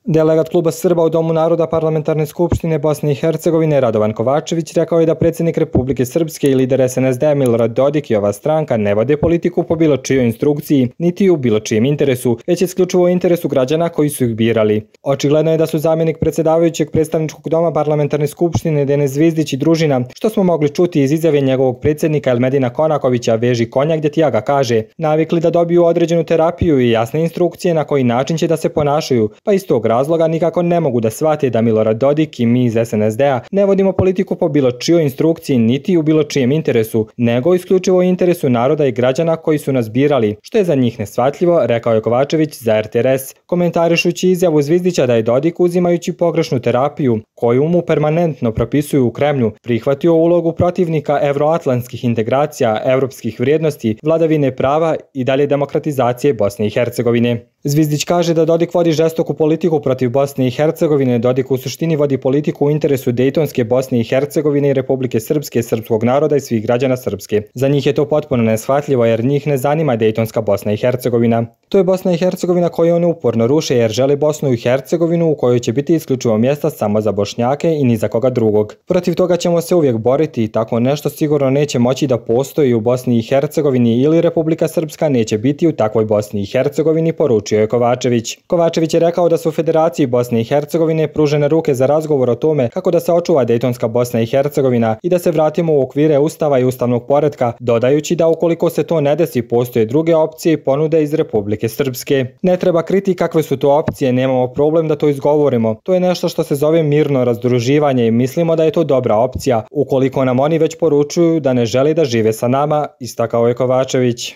Delegat kluba Srba u Domu naroda Parlamentarne skupštine Bosne i Hercegovine Radovan Kovačević rekao je da predsjednik Republike Srpske i lider SNSD Milorad Dodik i ova stranka ne vode politiku po bilo čijoj instrukciji, niti u bilo čijem interesu, već isključivo u interesu građana koji su ih birali. Očigledno je da su zamjenik predsjedavajućeg predstavničkog doma Parlamentarne skupštine Denis Zvizdić i družina, što smo mogli čuti iz izjave njegovog predsjednika Elmedina Konakovića Veži konja gdje Tijaga kaže, navikli da dobiju određenu terapiju i jasne instrukcije na koji način će da se ponašaju, pa iz tog razloga nikako ne mogu da shvate da Milorad Dodik i mi iz SNSD-a ne vodimo politiku po bilo čijoj instrukciji niti u bilo čijem interesu, nego isključivo u interesu naroda i građana koji su nas birali, što je za njih neshvatljivo, rekao je Kovačević za RTRS, komentarišući izjavu Zvizdića da je Dodik uzimajući pogrešnu terapiju, koju mu permanentno propisuju u Kremlju, prihvatio ulogu protivnika evroatlantskih integracija, evropskih vrijednosti, vladavine prava i dalje demokratizacije Bosne i Hercegovine. Zvizdić kaže da Dodik vodi žestoku politiku protiv Bosne i Hercegovine. Dodik u suštini vodi politiku u interesu Dejtonske Bosne i Hercegovine i Republike Srpske, srpskog naroda i svih građana Srpske. Za njih je to potpuno neshvatljivo jer njih ne zanima Dejtonska Bosna i Hercegovina. To je Bosna i Hercegovina koju oni uporno ruše jer žele Bosnu i Hercegovinu u kojoj će biti isključivo mjesta samo za Bošnjake i ni za koga drugog. Protiv toga ćemo se uvijek boriti i tako nešto sigurno neće moći da postoji u Bosni i Hercegovini ili Republika Srpska neće biti u takvoj Bosni i Hercegovini, poručio je Kovačević. Kovačević je rekao da su u Federaciji Bosne i Hercegovine pružene ruke za razgovor o tome kako da se očuva Dejtonska Bosna i Hercegovina i da se vratimo u okvire Ustava i ustavnog poretka, dodajući da ukoliko se to ne desi postoje druge opcije i ponude iz Republike Srpske. Ne treba kriti kakve su to opcije, nemamo problem da to izgovorimo. To je nešto što se zove mirno razdruživanje i mislimo da je to dobra opcija, ukoliko nam oni već poručuju da ne žele da žive sa nama, istakao je Kovačević.